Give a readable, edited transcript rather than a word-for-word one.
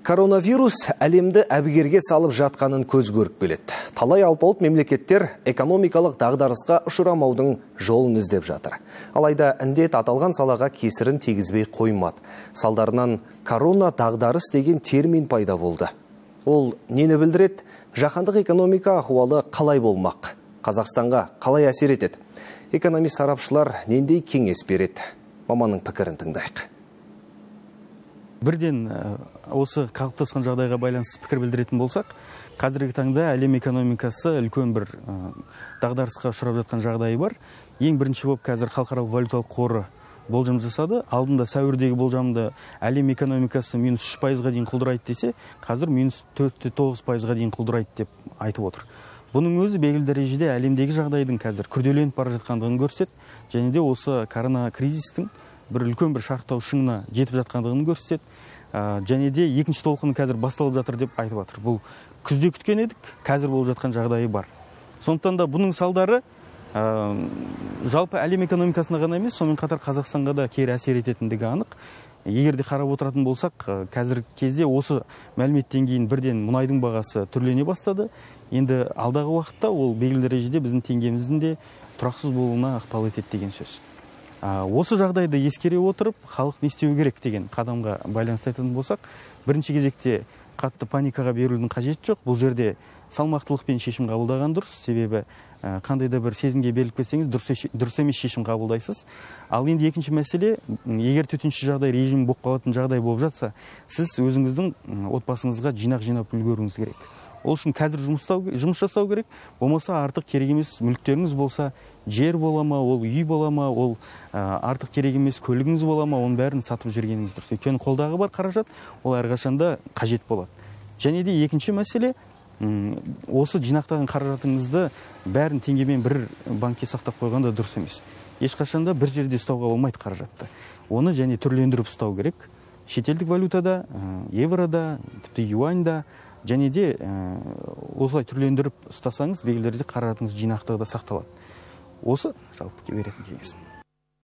Коронавирус әлемді әбігерге салып жатқанын көз көріп келеді. Талай алпауыт мемлекеттер экономикалық дағдарысқа ұшырамаудың жолын іздеп жатыр. Алайда індет аталған салаға кесірін тигізбей қоймады. Салдарынан корона дағдарыс деген термин пайда болды. Ол нені білдіреді? Жаһандық экономика ахуалы қалай болмақ? Қазақстанға қалай әсер етеді? Экономист сарапшылар нендей кеңес береді? Маманның пікірін тыңдайық. Бірден осы қалыптасқан жағдайға байланысты пікір білдіретін болсақ, қазіргі таңда әлем экономикасы үлкен бір дағдарысқа ұшырап жатқан жағдайы бар. Ең бірінші болып қазір халықаралық валюталық қоры болжам жасады. Алдында сәуірдегі болжамды әлем экономикасы -3%-ға дейін құлдырайды десе, қазір -4-9%-ға дейін құлдырайды деп айтып отыр. Бұның өзі белгілі дәрежеде әлемдегі жағдайдың қазір күрделеніп бара жатқандығын көрсетеді, және де осы корона кризистің бір үлкен бір шарықтау шыңына жетіп жатқандығын көрсетеді. Және де екінші толқыны қазір басталып жатыр деп айтып жатыр. Бұл күзде күткен едік, қазір болып жатқан жағдайы бар. Сондықтан да бұның салдары жалпы әлем экономикасына ғана емес, сонымен қатар Қазақстанға да кері әсер ететіндігі анық. Егер де қарап отыратын болсақ, қазіргі кезде осы мәліметтен кейін бірден мұнайдың бағасы түрлене бастады. Енді алдағы уақытта ол белгілі дәрежеде біздің теңгеміздің де тұрақсыз болуына ықпал етеді деген сөз. Осы жағдайды ескере отырып, халық не істеу керек деген қадамға байланысты айтатын болсақ, бірінші кезекте қатты паникаға берудің қажеті жоқ. Бұл жерде салмақтылықпен шешім қабылдаған дұрыс. Себебі қандай да бір сезімге беріліп кетсеңіз, дұрыс емес шешім қабылдайсыз. Ал енді екінші мәселе, егер төтенше жағдай режимі болып қалатын жағдай болып жатса, сіз өзіңіздің отбасыңызға жинап үлгеруіңіз керек. Ол үшін қазір жұмыс жасау керек. Болмаса артық керек емес мүліктеріңіз болса, жер бола ма, ол үй бола ма, ол артық керек емес көлігіңіз бола ма, оның бәрін сатып жүргеніңіз дұрыс. Өйткені қолдағы бар қаражат, ол әрқашанда қажет болады. Және де екінші мәселе, осы жинақтаған қаражатыңызды бәрін теңгемен бір банкке сақтап қойғанда дұрыс емес. Ешқашанда бір жерде ұстауға болмайды қаражатты. Оны және түрлендіріп ұстау керек. Шетелдік валютада, еврода, тіпті юаньда, және де осылай түрлендіріп ұстасаңыз, белгілі дәрежеде қаражатыңыз жинақтығы да сақталады. Осы жалпы беретін кеңесім.